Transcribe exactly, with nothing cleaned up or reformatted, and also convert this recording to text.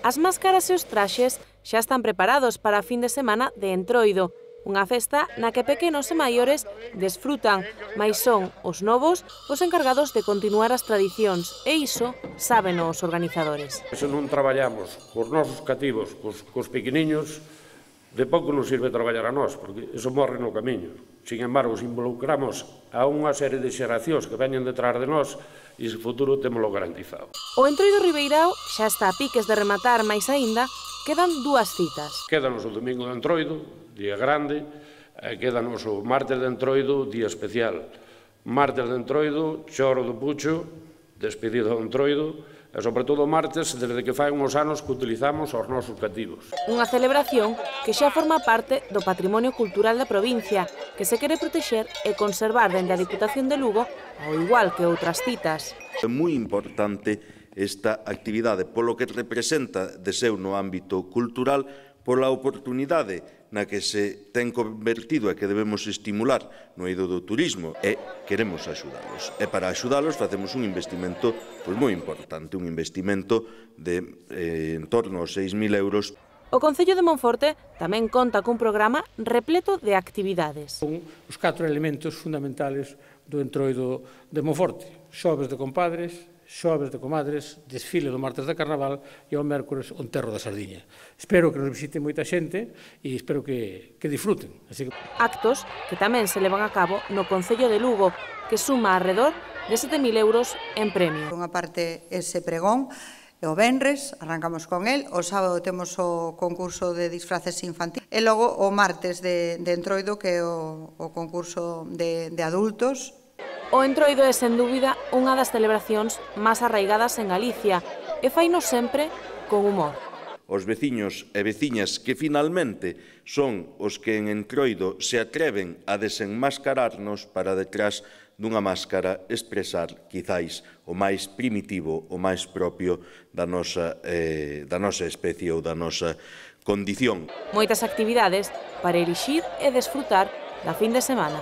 As máscaras e os traxes xa están preparados para a fin de semana de Entroido, unha festa na que pequenos e maiores desfrutan, mais son os novos os encargados de continuar as tradicións, e iso sábeno os organizadores. Se non traballamos cos nosos cativos, cos, cos pequeniños, de pouco nos sirve traballar a nós, porque iso morre no camiño. Sin embargo, se involucramos a unha serie de xeracións que veñen detrás de nós, e ese futuro témolo garantizado. O Entroido Ribeirao xa está a piques de rematar, máis aínda, quedan dúas citas. Quédanos o domingo de Entroido, día grande, e quédanos o martes de Entroido, día especial. Martes de Entroido, choro do Pucho, despedido do Entroido, e sobre todo o martes, desde que fai uns anos que utilizamos os nosos cativos. Unha celebración que xa forma parte do patrimonio cultural da provincia, que se quere protexer e conservar dende a Diputación de Lugo, ao igual que outras citas. É moi importante esta actividade, polo que representa de seu no ámbito cultural, pola oportunidade na que se ten convertido e que debemos estimular no eido do turismo, e queremos axudalos. E para axudalos facemos un investimento pois, moi importante, un investimento de eh, en torno aos seis mil euros. O Concello de Monforte tamén conta cun programa repleto de actividades. Son os catro elementos fundamentales do Entroido de Monforte: xoves de compadres, xoves de comadres, desfile do martes de Carnaval e ao mércores o enterro da sardiña. Espero que nos visite moita xente e espero que, que disfruten. Así que... Actos que tamén se levan a cabo no Concello de Lugo, que suma alrededor de sete mil euros en premio. Unha parte ese pregón, e o venres arrancamos con el, o sábado temos o concurso de disfraces infantil e logo o martes de, de Entroido, que é o, o concurso de, de adultos. O Entroido é, sen dúbida, unha das celebracións máis arraigadas en Galicia e faino sempre con humor. Os veciños e veciñas que finalmente son os que en Entroido se atreven a desenmascararnos para detrás dunha máscara expresar, quizáis, o máis primitivo, o máis propio da nosa, eh, da nosa especie ou da nosa condición. Moitas actividades para elixir e desfrutar da fin de semana.